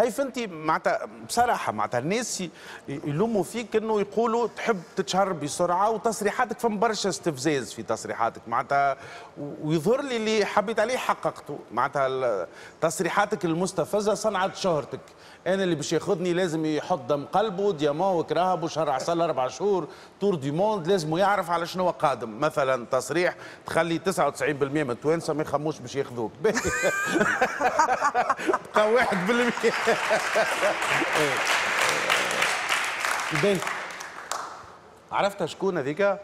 هاي فهمتي معناتها، بصراحة معناتها الناس يلوموا فيك انه يقولوا تحب تتشهر بسرعه، وتصريحاتك فما برشا استفزاز في تصريحاتك معناتها، ويظهر لي اللي حبيت عليه حققته. معناتها تصريحاتك المستفزه صنعت شهرتك. انا اللي باش ياخذني لازم يحط دم قلبه، diamant وكراهب وشهر عسل 4 شهور، tour du monde، لازم يعرف على شنو قادم. مثلا تصريح تخلي 99% من التوانسة ما يخموش باش ياخذوك، بقى 1%. باهي، عرفتها شكون هذيك؟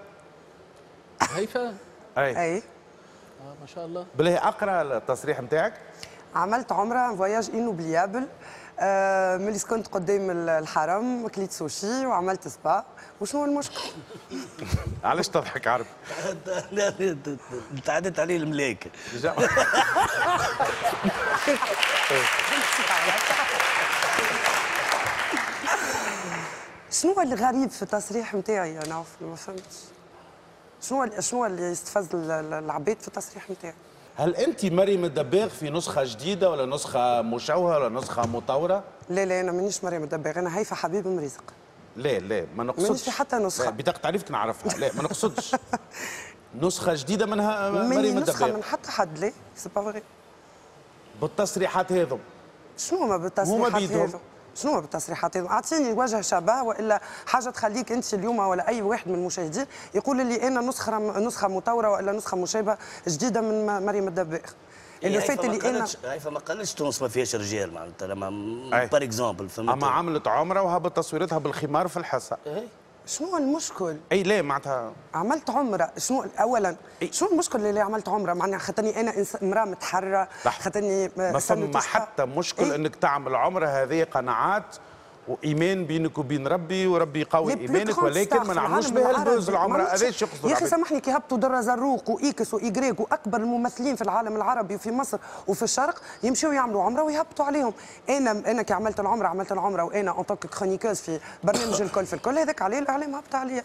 هيفا. اي. اي. آه ما شاء الله. بالله اقرا التصريح نتاعك. عملت عمره، voyage inoubliable، ملي سكنت قدام الحرم كليت سوشي وعملت سبا، وشنو المشكل؟ علاش تضحك عرب؟ لا، تعدت عليه الملايكه. شنو الغريب في التصريح نتاعي؟ انا ما فهمتش شنو اللي يستفز العباد في التصريح نتاعي. هل انت مريم الدباغ في نسخه جديدة ولا نسخه مشوهة ولا نسخه مطوره؟ لا لا، انا مانيش مريم الدباغ، انا هيفا حبيب مريزق. لا لا، ما نقصدش. مانيش في حتى نسخه. لا، بطاقة تعريفك نعرفها، لا ما نقصدش نسخه جديدة منها مريم نسخه الدباغ. من حتى حد، لا c'est pas vrai. بالتصريحات هذم. شنو هما بالتصريحات هما هذم؟ شنو هو بالتصريحات هذم؟ اعطيني وجه شبه والا حاجة تخليك انت اليوم ولا اي واحد من المشاهدين يقول لي انا نسخه مطوره والا نسخه مشابهة جديدة من مريم الدباغ. اللي فات اللي انا هيفا ما قالتش تونس ما فيهاش رجال معناتها لما par exemple. اما عملت عمره وهبط تصويرتها بالخمار في الحصة. شنو المشكل؟ اي لا معناتها عملت عمره، شنو اولا؟ إيه؟ شنو المشكل اللي عملت عمره؟ معناها خاطرني انا امراة متحررة، خاطرني ما فما حتى مشكل. إيه؟ انك تعمل عمره هذه قناعات وايمان بينك وبين ربي، وربي يقوي ايمانك، ولكن ما نعملوش بها ال buzz العمرة. هذا ايش يقصدوا؟ يا اخي سامحني، كي هبطوا درة زروق واكس وايجريك واكبر الممثلين في العالم العربي وفي مصر وفي الشرق يمشيوا يعملوا عمره ويهبطوا عليهم. انا كي عملت العمرة، عملت العمرة وانا en tant que chroniqueuse في برنامج الكل في الكل، هذاك عليه الاعلام هبط عليا.